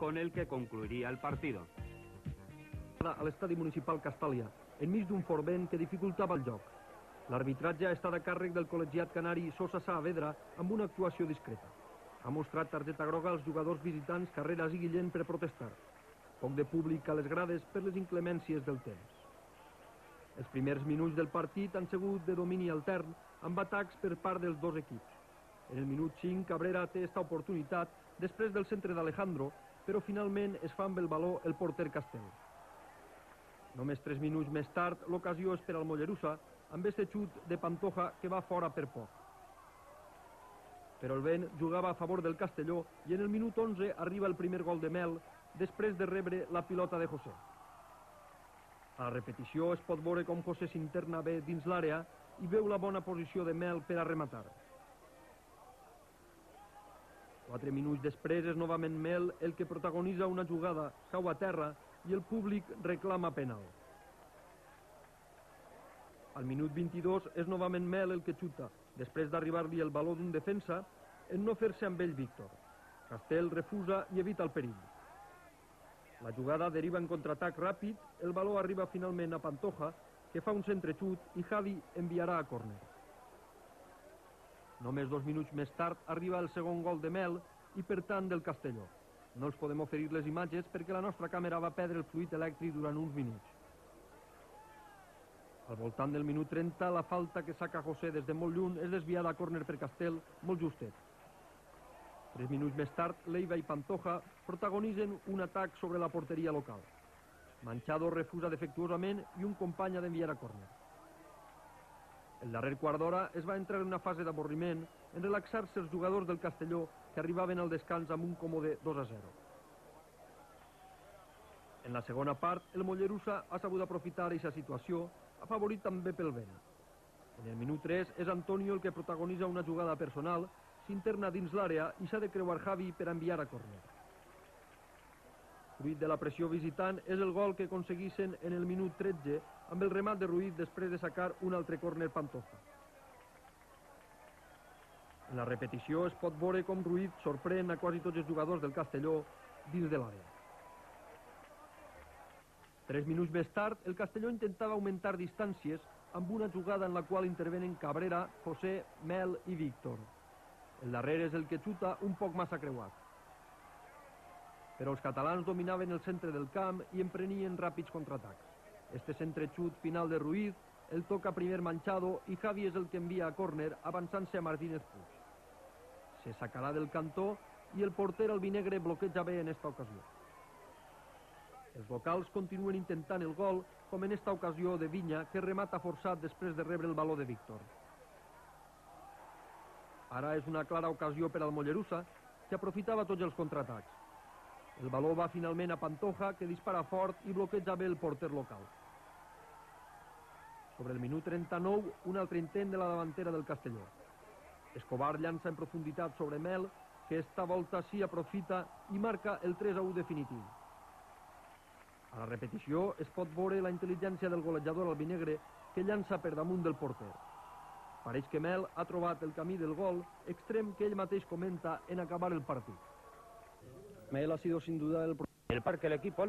con el que concluiría el partido. A l'estadi municipal Castàlia, enmig d'un fort vent que dificultava el joc. L'arbitratge ha estat a càrrec del col·legiat canari Sosa Saavedra amb una actuació discreta. Ha mostrat targeta groga als jugadors visitants Carreras i Guillén per protestar. Poc de públic a les grades per les inclemències del temps. Els primers minuts del partit han sigut de domini altern amb atacs per part dels dos equips. En el minut 5 Cabrera té esta oportunitat després del centre d'Alejandro, però finalment es fa amb el baló el porter Castell. Només 3 minuts més tard l'ocasió és per al Mollerussa amb este xut de Pantoja que va fora per poc. Però el vent jugava a favor del Castelló i en el minut 11 arriba el primer gol de Mel després de rebre la pilota de José. A la repetició es pot veure com José s'interna bé dins l'àrea i veu la bona posició de Mel per a rematar. 4 minuts després és novament Mel el que protagonitza una jugada, cau a terra i el públic reclama penal. Al minut 22 és novament Mel el que xuta, després d'arribar-li el baló d'un defensa en no fer-se amb ell Víctor. Castell refusa i evita el perill. La jugada deriva en contraatac ràpid, el baló arriba finalment a Pantoja, que fa un centrexut i Javi enviarà a córner. Només 2 minuts més tard arriba el segon gol de Mel i per tant del Castelló. No els podem oferir les imatges perquè la nostra càmera va perdre el fluid elèctric durant uns minuts. Al voltant del minut 30, la falta que saca José des de molt lluny és desviada a córner per Castell, molt justet. 3 minuts més tard, Leiva i Pantoja protagonitzen un atac sobre la porteria local. Manchado refusa defectuosament i un company ha d'enviar a córner. El darrer quart d'hora es va entrar en una fase d'avorriment en relaxar-se els jugadors del Castelló que arribaven al descans amb un còmode 2-0. En la segona part, el Mollerussa ha sabut aprofitar aquesta situació, afavorit també pel vent. En el minut 3 és Antonio el que protagonitza una jugada personal, s'interna dins l'àrea i s'ha de creuar Javi per enviar a córner. Fruit de la pressió visitant és el gol que aconseguissin en el minut 13 amb el remat de Ruiz després de sacar un altre córner Pantoja. En la repetició es pot veure com Ruiz sorprèn a quasi tots els jugadors del Castelló dins de l'àrea. 3 minuts més tard, el Castelló intentava augmentar distàncies amb una jugada en la qual intervenen Cabrera, José, Mel i Víctor. El darrer és el que xuta un poc massa creuat. Però els catalans dominaven el centre del camp i emprenien ràpids contraatacs. Este centrexut final de Ruiz el toca primer Manchado i Javi és el que envia a córner avançant-se a Martínez Puig. Se sacarà del cantó i el porter albinegre bloqueja bé en esta ocasió. Els locals continuen intentant el gol, com en esta ocasió de Viña, que remata forçat després de rebre el baló de Víctor. Ara és una clara ocasió per al Mollerussa, que aprofitava tots els contraatacs. El baló va finalment a Pantoja, que dispara fort i bloqueja bé el porter local. Sobre el minut 39, un altre intent de la davantera del Castelló. Escobar llança en profunditat sobre Mel, que esta volta sí aprofita i marca el 3-1 definitiu. A la repetició es pot veure la intel·ligència del golejador albinegre que llança per damunt del porter. Pareix que Mel ha trobat el camí del gol, extrem que ell mateix comenta en acabar el partit. Mel ha sido sin duda el que el equipo